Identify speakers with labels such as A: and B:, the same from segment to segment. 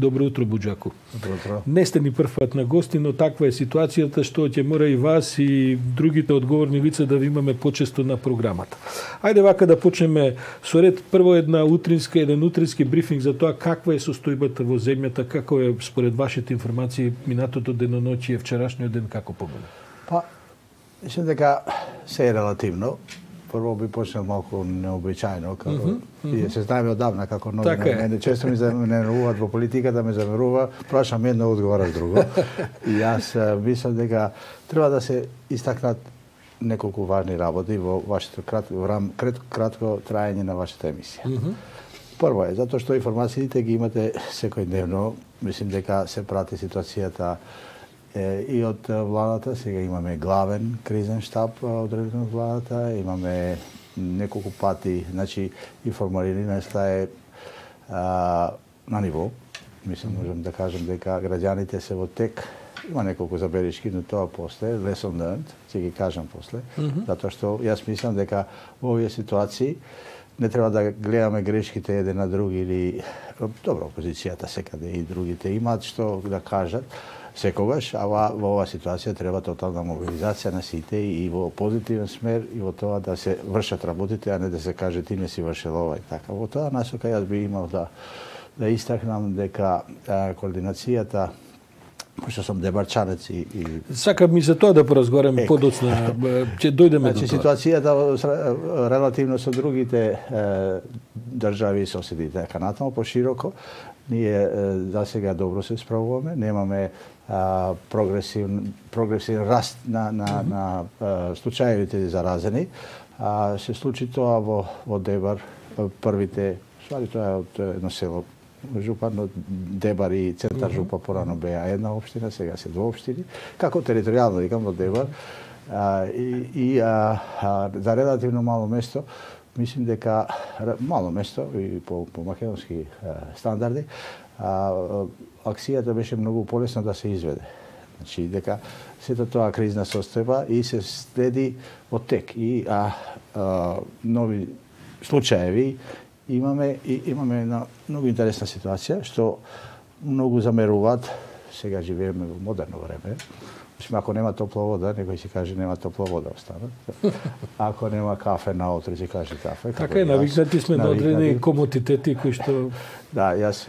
A: Добро утро, Буџаку.
B: Добро утро.
A: Не сте ни прв пат на гости, но таква е ситуацијата што ќе мора и вас и другите одговорни лица да ви имаме почесто на програмата. Ајде вака да почнеме со ред. Прво еден утрински брифинг за тоа каква е состојбата во земјата, како е според вашите информации минатото деноноќие, вчерашниот ден како помина?
B: Па, мислам дека се е релативно. Прво би почнал малку необичајно, како и се знаеме одавна како нови.
A: Така
B: мене често ми замеруваат во политиката, ме замерува, прашам едно, одговараш друго. И јас мислам дека треба да се истакнат неколку важни работи во вашето кратко траење на вашата емисија. Прво е затоа што информациите ги имате секојдневно. Мислим дека се прати ситуацијата и од владата. Сега имаме главен кризен штаб одреден од владата, имаме неколку пати, значи информираноста е на ниво. Мислам, можам да кажам дека граѓаните се во тек. Има неколку забелишки, но тоа после, lesson learned, ќе ги кажам после, затоа што јас мислам дека во овие ситуации не треба да гледаме грешките еден на други или добро, опозицијата секаде и другите имаат што да кажат секогаш, а во оваа ситуација треба тотална мобилизација на сите и во позитивен смер и во тоа да се вршат работите, а не да се каже ти не си вршил ова и така. Во тоа насока јас би имал да истакнам дека координацијата, пошто сум дебарчанец и
A: Сакам и за тоа да поразговараме подоцна, ќе дојдеме до тоа.
B: Ситуацијата релативно со другите држави и соседите канатално пошироко, ние за сега добро се справуваме, немаме прогресивен раст на случаевите заразени. Се случи тоа во Дебар, првите, ствари тоа е од едно село, Жупан, од Дебар и центар Жупа порано беа една општина, сега се 2 општини. Како територијално, викам, во Дебар. За релативно мало место, мислим дека мало место и по македонски стандарди, акцијата беше многу полесно да се изведе. Значи дека сето тоа кризна состојба и се следи во тек и нови случаеви имаме една многу интересна ситуација што многу замеруваат. Сега живееме во модерно време. Ако нема топла вода, некој ќе каже нема топла вода остана. Ако нема кафе наутре, ќе каже кафе.
A: Така е, навикнати сме на одредени комодитети кои што...
B: Да, јас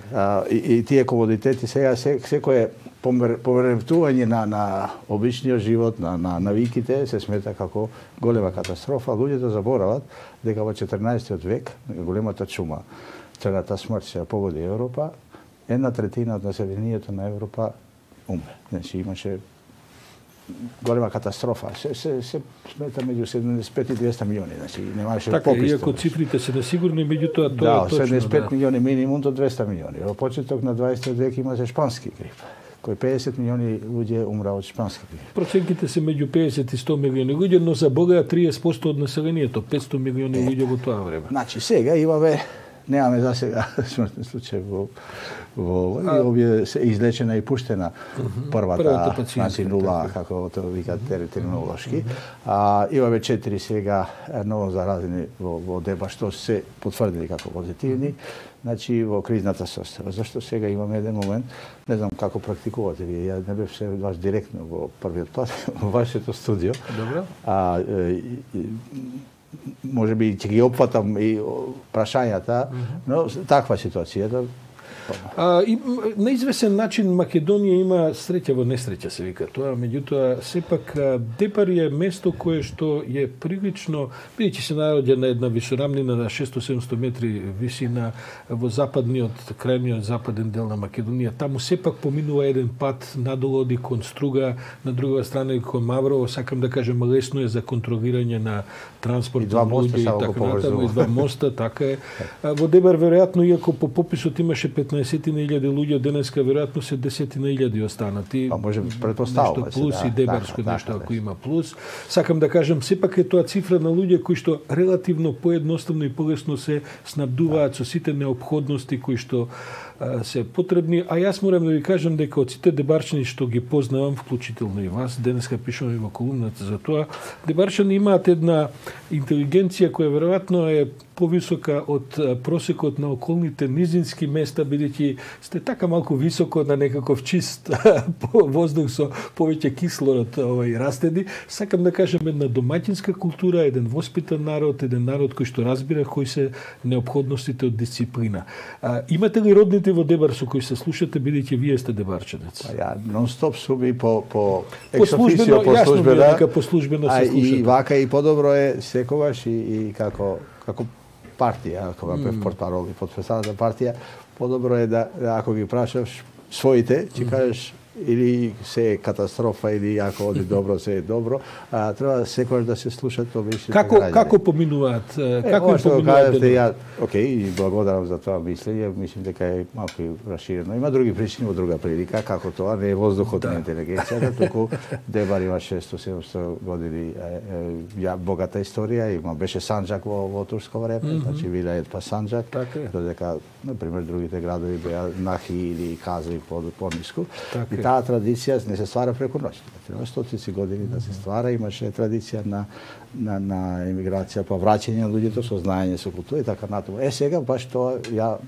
B: и тие комодитети сега секое повреметување на обичниот живот, на навиките се смета како голема катастрофа. Луѓето заборават дека во 14 век големата чума, црната смрт се погоди Европа, 1/3 од населението на Европа умре. Значи имаше голема катастрофа. Се смета меѓу 75 и 200 милиони, значи немаше
A: така,
B: попис.
A: Така, иако цифрите се несигурни, меѓутоа
B: тоа
A: е точно.
B: 75 милиони минимум до 200 милиони. Во почеток на 20 век имаше шпански грип, кој 50 милиони луѓе умра од шпански грип.
A: Проценките се меѓу 50 и 100 милиони луѓе, но за Бога 30% од населението, 500 милиони луѓе во тоа време.
B: Значи сега немаме за сега смртен случај во овие се излечена и пуштена првата значи нула, како тоа викаат терминолошки. Имаме 4 сега ново заразени во Дебар, што се потврдили како позитивни, значи во кризната состојба. Зашто сега имаме еден момент, не знам како практикувате вие, ја не бев се баш директно во првиот пат во вашето студио.
A: Добро.
B: Може би ќе ги опфатам и прашањата, но таква ситуација.
A: На извесен начин Македонија има среќа во несреќа, се вика тоа, меѓутоа сепак Дебар е место кое што е прилично, бидејќи се наоѓа на една висорамнина на 600-700 метри висина во западниот, крајниот западен дел на Македонија. Таму сепак поминува еден пат надолу оди кон Струга, на друга страна и кон Маврово, сакам да кажам, лесно е за контролирање на транспорт на луѓе и така натаму, и два моста, така е. Во Дебар веројатно, иако по пописот имаше 15.000 луѓе, денеска веројатно се 10.000 останати.
B: Па може претпоставуваме
A: се, плюс и дебарско нешто ако
B: да.
A: има плюс. Сакам да кажам, сепак е тоа цифра на луѓе кои што релативно поедноставно и полесно се снабдуваат со сите неопходности кои што се потребни, а јас морам да ви кажам дека од сите дебарчани што ги познавам, вклучително и вас, денеска пишувам и во колумната за тоа, дебарчани имаат една интелигенција која веројатно е повисока од просекот на околните низински места, бидејќи сте така малку високо на некаков чист воздух со повеќе кислород растеди. Сакам да кажам една домаќинска култура, еден воспитан народ, еден народ кој што разбира кои се неопходностите од дисциплина. Имате ли родните во Дебар со кои се слушате, бидејќи вие сте дебарчанец?
B: Ја нон-стоп сум и по екс-официо, по службена,
A: по службено се слушате.
B: И вака и подобро е секогаш и како партија, кога бев портпарол и подпредседател партија, подобро е да ако ги прашаш своите, ќе кажеш или се е катастрофа или ако оди добро, се е добро, треба секогаш да се слушат обичните граѓани.
A: Како поминуваат? Како
B: што кажете, ја, окей, и благодарам за тоа мислење, мислам дека е малку расширено. Има други причини во друга прилика, како тоа не е воздухот на интелигенцијата, туку Дебар има 600-700 години богата историја, беше Санџак во турско време, значи Вилајет па Санџак, додека, например, другите градови беа Нахи или Кази по-ниску. И таа традиција не се ствара преку ноќ. Треба стотици години да се ствара, имаше традиција на емиграција, па враќање на луѓето со знаење, со култура и така натаму. Сега баш тоа ја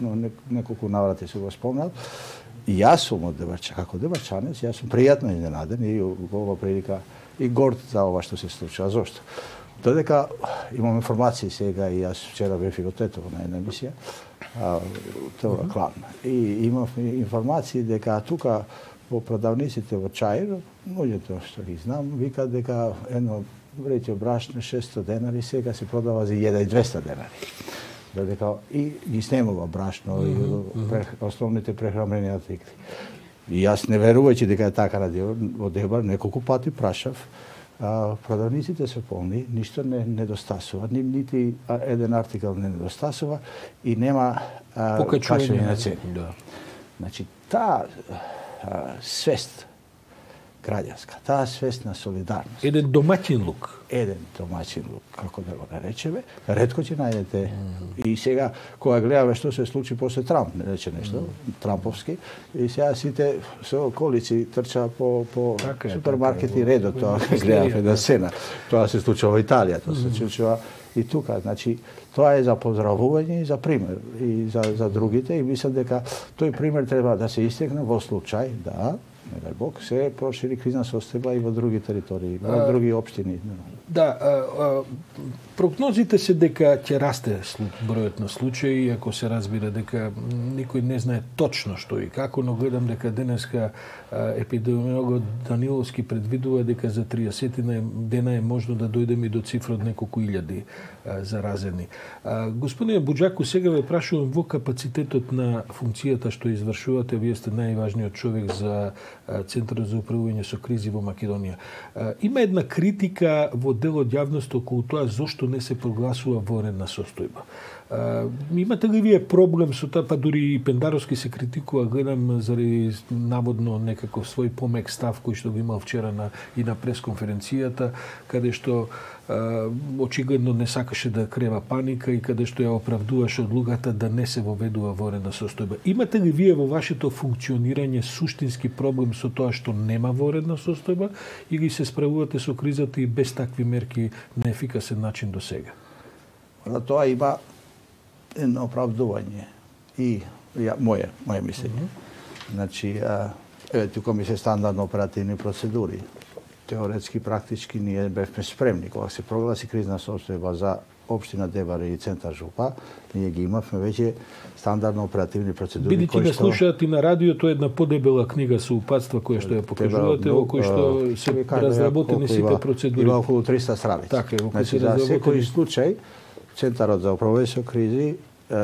B: неколку наврати се го спомнал. И јас сум од Дебарча, како дебарчанец, јас сум пријатно изненаден и во прилика и горд за ова што се случува. Зошто? Додека имам информации сега и јас вчера бев и во Тетово на една емисија, тоа клан. И имав информации дека тука во продавниците во Чаир, луѓето што ги знам, викаат дека едно вреќе брашно 600 денари сега се продава за 1200 денари. Додека и ги снемува брашно и основните прехранбени артикли. И јас не верувајќи дека е така во Дебар, неколку пати прашав, продавниците се полни, ништо не недостасува, нити еден артикал не недостасува и нема качување на цени. Значи, таа свест граѓанска, таа свест на солидарност.
A: Еден домаќин лук.
B: Како да го наречеме, ретко ќе најдете. И сега, кога гледаме што се случи после Трамп, не рече нешто, трамповски, и сега сите со околици трча по супермаркети редот, тоа гледаме на сцена. Тоа се случува во Италија, тоа се случува и тука. Значи, тоа е за поздравување и за пример, и за другите, и мислам дека тој пример треба да се истекне во случај да, не дај Бог, се прошири кризна состојба и во други територии, во други општини.
A: Да, прогнозите се дека ќе расте бројот на случаи, ако се разбира дека никој не знае точно што и како, но гледам дека денеска епидемиологот Даниловски предвидува дека за 30 дена е можно да дојдеме до цифра од неколку илјади заразени. Господине Буџаку, сега ве прашувам во капацитетот на функцијата што извршувате, вие сте најважниот човек за Центарот за управување со кризи во Македонија. Има една критика во дел од јавноста околу тоа зошто не се прогласува военна состојба. Имате ли вие проблем со тоа, па дури и Пендаровски се критикува, гледам заради наводно некаков свој помек став кој што го имал вчера и на пресконференцијата, каде што очигледно не сакаше да крeva паника и каде што ја оправдуваше одлугата да не се воведува военна состојба. Имате ли вие во вашето функционирање суштински проблем со тоа што нема военна состојба или се справувате со кризата и без такви мерки на ефикасен начин до сега?
B: За тоа има едно оправдување и моје мислење. Значи, тука ми се стандардно оперативни процедури. Теоретски, практички ние бевме спремни. Кога се прогласи кризна состојба за општина Дебар и Центар Жупа, ние ги имавме веќе стандардно оперативни процедури.
A: Бидејќи ме слушаат и на радиото, една подебела книга со упатства која што ја покажувате, во кој што се разработени сите процедури.
B: Има околу 300 страници.
A: Така е, во кој
B: се разработени. За секој случај, Центарот за управување со кризи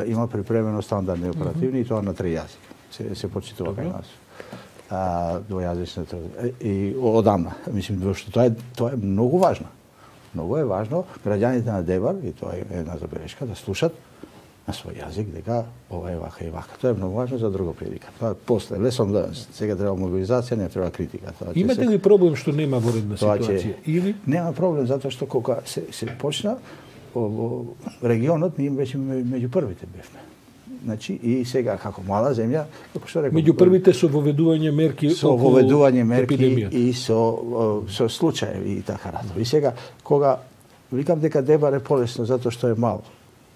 B: има припремено стандардни оперативни и тоа на 3 јазика. Се почитува кај нас. Двојазичната и одамна. Мислим што тоа е многу важно. Многу е важно граѓаните на Дебар, и тоа е една забелешка, да слушат на свој јазик дека ова е вака и вака. Тоа е многу важно за друга прилика. Тоа после лесон да сега треба мобилизација, не треба критика.
A: Имате ли проблем што нема воредна ситуација? Или
B: нема проблем затоа што кога се почна во регионот ние веќе меѓу првите бевме. Значи и сега како мала земја, како што реков,
A: меѓу првите со воведување мерки
B: и со случаеви и така натаму. И сега кога викам дека Дебар е полесно затоа што е мал.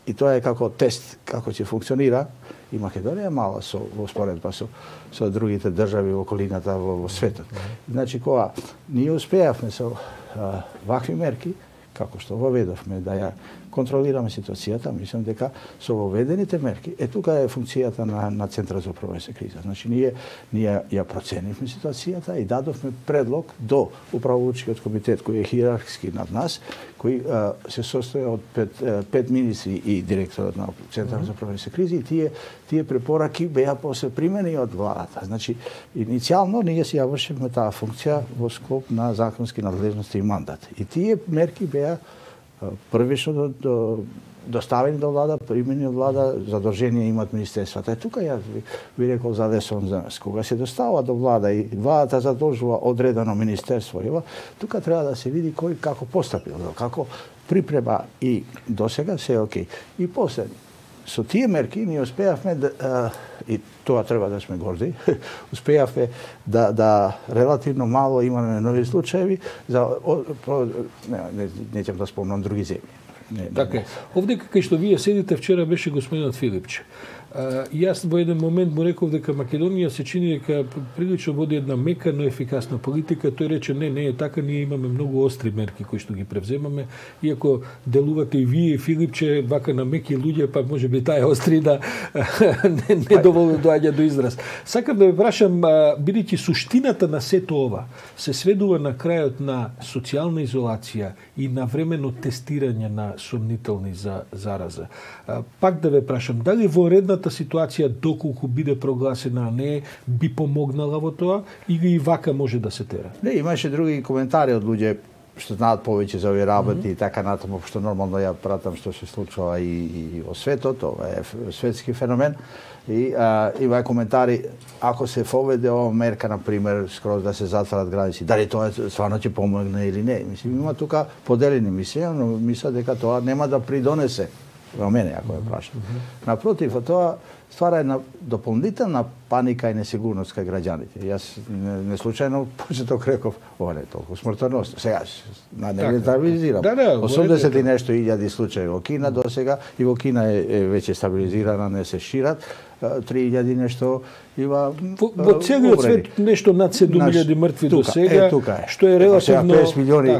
B: И тоа е како тест како ќе функционира. И Македонија е мала во споредба со другите држави во околината во светот. Значи кога ние успеавме со вакви мерки, како што воведовме да ја контролираме ситуацијата, мислам дека со воведените мерки, тука е функцијата на Центарот за управување со криза. Значи ние ја проценивме ситуацијата и дадовме предлог до управувачкиот комитет кој е хиерархиски над нас, кој се состои од пет министри и директорот на Центарот за управување со кризи, и тие препораки беа после примени од владата. Значи иницијално ние си ја вршивме таа функција во склоп на законски надлежности и мандат. И тие мерки беа првично доставени до влада, примени од влада, задржение имаат министерствата. Тука јас би рекол за лесон за нас. Кога се достава до влада и владата задолжува одредено министерство, тука треба да се види кој како постапил, како припрема и досега се окей. И после со тие мерки ние успеавме и тоа треба да сме горди, успеавме да релативно мало имаме нови случаеви за не ќе да спомнам други земји.
A: Така. Овде кај што вие седите вчера беше господинот Филипче. Јас во еден момент му реков дека Македонија се чини дека прилично води една мека, но ефикасна политика. Тој рече не е така, ние имаме многу остри мерки кои што ги превземаме. Иако делувате и вие, Филипче, вака на меки луѓе, па можеби таа острина не доволно доаѓа до израз. Сакам да ве прашам, бидејќи суштината на сето ова се сведува на крајот на социјална изолација и на временно тестирање на сомнителни за зараза. Пак да ве прашам, дали во редната ситуација, доколку биде прогласена, не би помогнала во тоа, или и вака може да се тера?
B: Не, имаше други коментари од луѓе што знаат повеќе за овие работи и така натаму, што нормално ја пратам што се случува и во светот, ова е светски феномен. И има коментари, ако се воведе ова мерка, например, скроз да се затворат граници, дали тоа стварно ќе помогне или не? Мислим, има тука поделени мислења, но мислам дека тоа нема да придонесе во мене, ако ја прашам. Напротив, тоа ствара една дополнителна паника и несигурност кај граѓаните. Јас не случајно почеток реков, ова не е толку смртоносно. Сега не стабилизирам. 80 и нешто илјади случаи во Кина досега, и во Кина е веќе стабилизирана, не се шират. 3000 нешто има
A: во целиот свет нешто над 7000 мртви до сега, што е релативно
B: 50 милиони,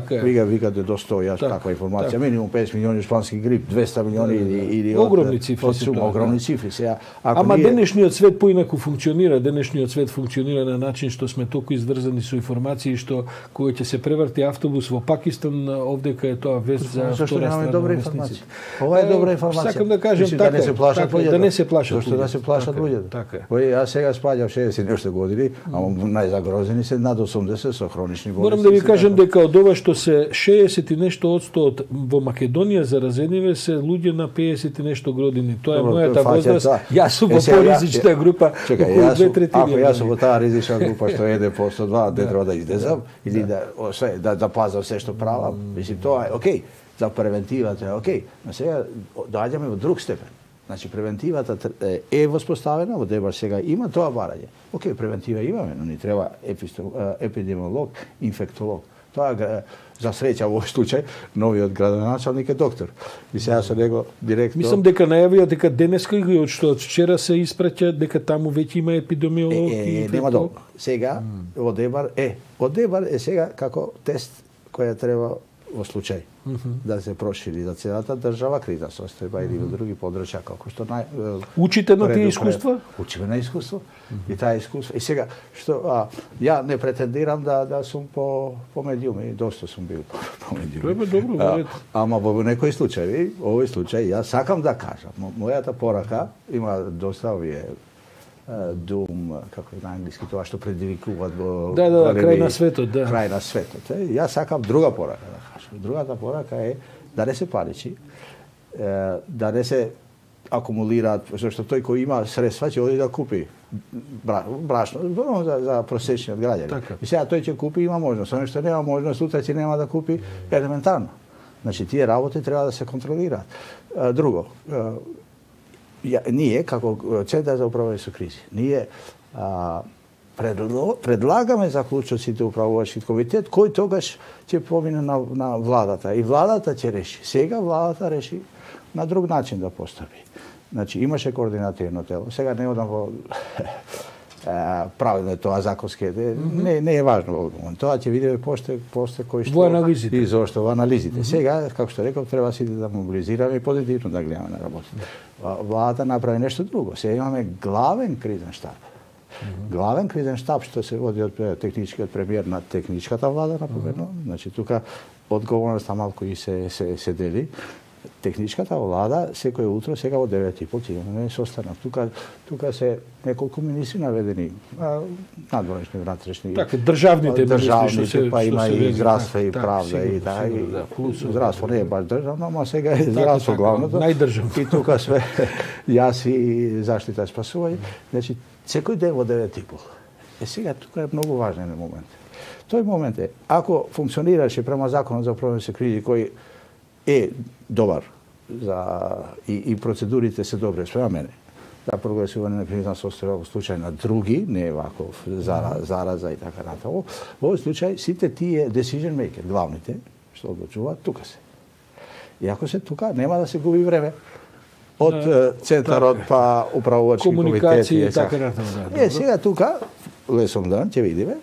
B: викате до 100, јас таква информација, минимум 50 милиони шпански грип, 200 милиони или
A: огромни цифри,
B: огромни цифри. Сега
A: ама денешниот свет поинаку функционира, денешниот свет функционира на начин што сме толку изврзани со информации што кога ќе се преврти автобус во Пакистан, овдека е тоа вест за втора страна на вестниците.
B: Ова е добра информација.
A: Сакам да кажем така, да не се плашат
B: луѓето. Да се плашат луѓето.
A: Така.
B: Јас сега спаѓам 60 нешто години, ама најзагрозени се над 80 со хронични болести.
A: Морам да ви кажам дека од ова што се 60 и нешто одсто во Македонија заразениве се луѓе на 50 и нешто години. Тоа е мојата возраст. Јас сум во поризична група.
B: Чекај, ако јас сум во таа ризична група што еде по 102, не треба да излезам или да пазам се што правам. Мислим, тоа е окей. За превентивата е окей. Но сега доаѓаме во друг степен. Значи, превентивата е воспоставена, во Дебар сега има тоа барање. Океј, превентива имаме, но ни треба епидемиолог, инфектолог. Тоа, за среќа во овој случај, новиот градоначалник е доктор. И сега со него директно...
A: Мислам дека најавија дека денеска или од што од вчера се испраќа дека таму веќе има епидемиолог и
B: нема долго. Сега, во Дебар е сега како тест која треба во случај да се прошири за целата држава криза состојба или во други подрачја како што
A: учите на тие искуства?
B: Учиме на искуство и таа искуство. И сега што ја не претендирам да сум по медиум и доста сум бил по медиум.
A: Добро,
B: ама во некои случаи, овој случај ја сакам да кажам, мојата порака има доста овие дум, како на англиски тоа што предизвикуваат во
A: крај на светот,
B: крај на светот. Јас сакам друга порака да кажам. Другата порака е да не се паричи, да не се акумулираат, зашто тој кој има средства ќе оди да купи брашно за просечниот граѓанин. И сега тој ќе купи, има можност, оној што нема можност, утре ќе нема да купи елементарно. Значи тие работи треба да се контролираат. Друго, ние, како Центар за управување со кризи, ние предлагаме заклучоците управувачки комитет, кој тогаш ќе помине на владата. И владата ќе реши. Сега владата реши на друг начин да постапи. Значи, имаше координативно тело. Сега не одам во правилно тоа законски, не е важно во момент. Тоа ќе видиме после кој што
A: во анализите.
B: И зошто во анализите. Сега, како што реков, треба сите да мобилизираме и позитивно да гледаме на работите. Владата направи нешто друго. Сега имаме главен кризен штаб. Главен кризен штаб што се води од техничкиот премиер на техничката влада, например. Значи, тука одговорноста малку и се дели. Техничката влада секој утро, сега во 9:30 ќе имаме состанок. Тука се неколку министри наведени, надворешни, внатрешни.
A: Така, државните министри,
B: па има и здравство и правда и така. Здравство не е баш државно, ама сега е здравство главното.
A: Најдржавно.
B: И тука све јас и заштита и спасување. Значи, секој ден во 9:30. Сега тука е многу важен момент. Тој момент е, ако функционираше према законот за управување со кризи кој е добар и процедурите се добри спрема мене. Да прогласување на кризна состојба во случај на други, не ваков зараза и така натаму. Во овој случај сите тие decision maker, главните, што одлучуваат, тука се. И ако се тука, нема да се губи време од центарот па управувачки комитети
A: и така натаму.
B: Сега тука lesson learned ќе видиме,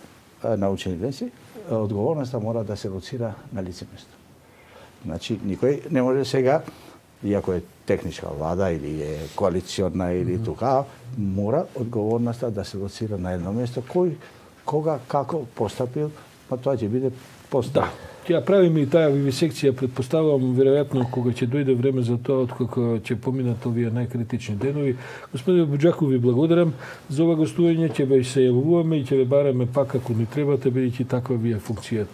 B: научени леси, одговорноста мора да се лоцира на лице место. Значи, никој не може сега, иако е техничка влада или е коалиционна или тука, мора одговорноста да се лоцира на едно место. Кој, кога, како постапил, па тоа ќе биде постап.
A: Да, ќе правиме и таа вивисекција, предпоставувам, веројатно, кога ќе дојде време за тоа, откако ќе поминат овие најкритични денови. Господин Буџаков, ви благодарам за ова гостување, ќе ве се јавуваме и ќе ве бараме пак ако ни требате, бидејќи таква ви е функцијата.